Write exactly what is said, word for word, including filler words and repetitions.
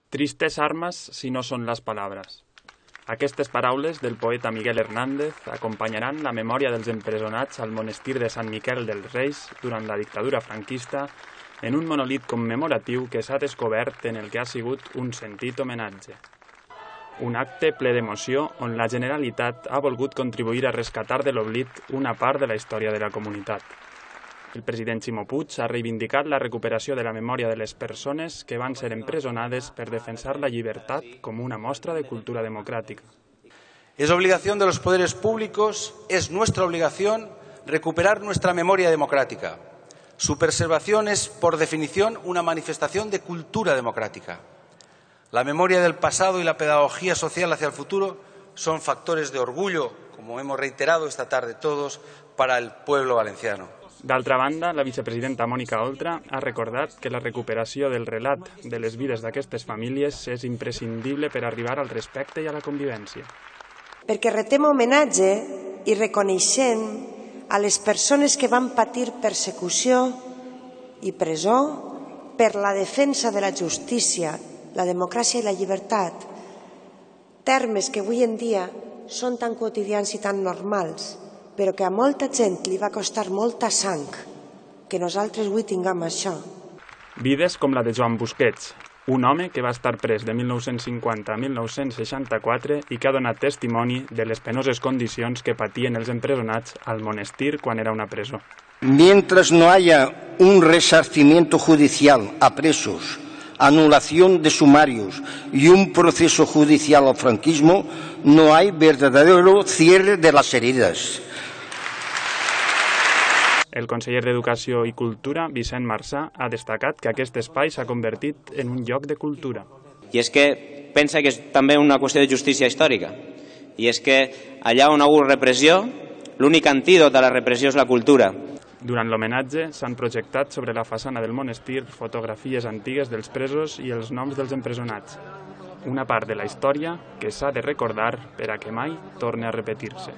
Tristes armes si no són les paraules. Aquestes paraules del poeta Miguel Hernández acompanyaran la memòria dels empresonats al monestir de Sant Miquel dels Reis durant la dictadura franquista en un monolit commemoratiu que s'ha descobert en el que ha sigut un sentit homenatge. Un acte ple d'emoció on la Generalitat ha volgut contribuir a rescatar de l'oblit una part de la història de la comunitat. El president Ximo Puig ha reivindicat la recuperació de la memòria de les persones que van ser empresonades per defensar la llibertat com una mostra de cultura democrática. Es obligación de los poderes públicos, es nuestra obligación recuperar nuestra memoria democrática. Su preservación es, por definición, una manifestación de cultura democrática. La memoria del pasado y la pedagogía social hacia el futuro son factores de orgullo, como hemos reiterado esta tarde todos, para el pueblo valenciano. D'altra banda, la vicepresidenta Mònica Oltra ha recordat que la recuperació del relat de les vides d'aquestes famílies és imprescindible per arribar al respecte i a la convivència. Perquè retem homenatge i reconeixem a les persones que van patir persecució i presó per la defensa de la justícia, la democràcia i la llibertat, termes que avui en dia són tan quotidians i tan normals, però que a molta gent li va costar molta sang que nosaltres avui tinguem això. Vides com la de Joan Busquets, un home que va estar pres de mil nou-cents cinquanta a mil nou-cents seixanta-quatre i que ha donat testimoni de les penoses condicions que patien els empresonats al monestir quan era una presó. Mientras no haya un resarcimiento judicial a presos, anulación de sumarios y un proceso judicial al franquismo, no hay verdadero cierre de las heridas. El conseller d'Educació i Cultura, Vicent Marsà, ha destacat que aquest espai s'ha convertit en un lloc de cultura. I és que pensa que és també una qüestió de justícia històrica. I és que allà on hi ha hagut repressió, l'únic antídot a la repressió és la cultura. Durant l'homenatge s'han projectat sobre la façana del monestir fotografies antigues dels presos i els noms dels empresonats. Una part de la història que s'ha de recordar per a que mai torni a repetir-se.